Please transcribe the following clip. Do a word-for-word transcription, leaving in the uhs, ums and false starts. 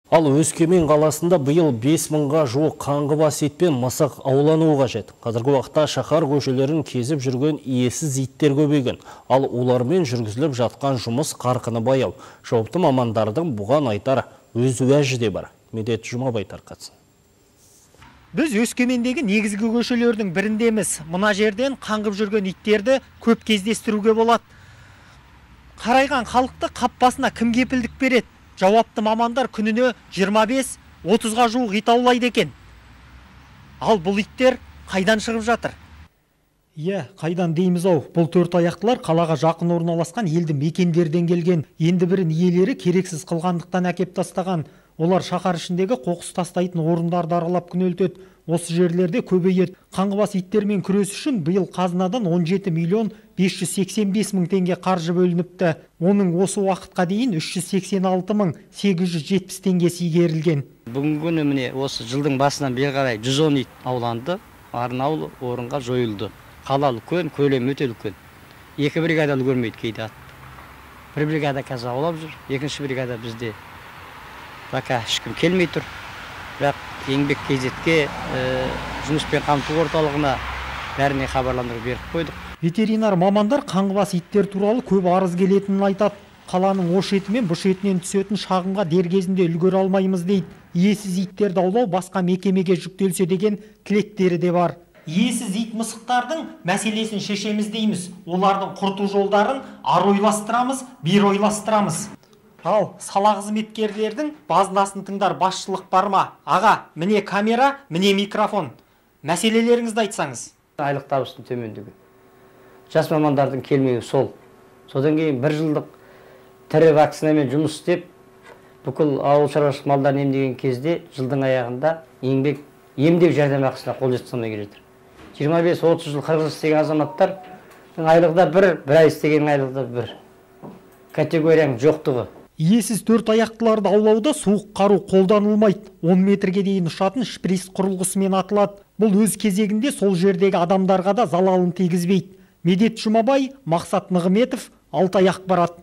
Ал Өскемен қаласында биыл бес мыңға жуық қаңғыбас ит пен мысық аулануы қажет. Қазіргі уақытта шаһар көшелерін кезіп жүрген иесіз иттер көбейген. Ал олармен жүргізіліп жатқан жұмыс қарқыны баяу. Жауапты мамандардың бұған айтар өз уәжі де бар. Медет Жұмабай тарқатсын. Біз Өскемендегі негізгі көшелердің біріндеміз. Мына жерден қаңғып жүрген иттерді көп кездестіруге болады. Қарайған халықты қап басына кім кепілдік береді? Жауапты мамандар күніне жиырма бес отызға жуық ит аулайды екен. Ал бұл иттер қайдан шығып жатыр? Иә, қайдан дейміз ау. Бұл төрт аяқтылар қалаға жақын орналасқан елді мекендерден келген. Енді бірін иелері керексіз қылғандықтан әкеп тастаған. Олар шаһар ішіндегі қоқыс тастайтын орындарды аралап күнелтеді. Осы жерлерде көбейеді. Қаңғыбас иттермен күрес үшін биыл қазынадан он жеті миллион бес жүз сексен бес мың теңге қаржы бөлініпті. Оның осы уақытқа дейін үш жүз сексен алты мың сегіз жүз жетпіс теңгесі игерілген. Бүгінгі күні міне осы жылдың басынан бері қарай жүз он ит ауланды, арнаулы орынға жойылды. Қалалы көн, көлем өте үлкен. Екі бригада үлгермейді кейде. Бір бригада қазір аулап жүр, екінші бригада бізде пока ешкім келмей тұр. Бірақ еңбек кезетке жұмыспен қамту орталығына бәріне хабарландырып беріп қойдық. Ветеринар мамандар қаңғыбас иттер туралы көп арыз келетінін айтады. Қаланың ош еті мен бұш етінен түсетін шағымға дер кезінде үлгере алмаймыз дейді. Иесіз иттерді аулау басқа мекемеге жүктелсе деген тілектері де бар. Иесіз ит мысықтардың мәселесін шешеміз дейміз. Олардың құрту жолдарын ары ойластырамыз, бері ойластырамыз. Ал сала қызметкерлердің базынасын тыңдар басшылық бар ма? Аға, міне камера, міне микрофон. Мәселелеріңізді айтсаңыз. Айлық табыстың төмендігі. Жас мамандардың келмеуі сол. Содан кейін бір жылдық тірі вакцинамен жұмыс істеп, бүкіл ауыл шаруашылық малдарын емдеген кезде жылдың аяғында еңбек емдеу жәрдемақысына қол жеткізілмей келе жатыр. жиырма бес отыз жыл қырық жыл істеген азаматтар айлығында бір, бір ай істеген айлығында бір. Категорияның жоқтығы. Иесіз төрт аяқтыларды аулауда суық қару қолданылмайды. он метрге дейін ұшатын шприц құрылғысымен атылады. Бұл өз кезегінде сол жердегі адамдарға да залалын тигізбейді. Медет Жұмабай, Мақсат Нығыметов, Алтай ақпарат.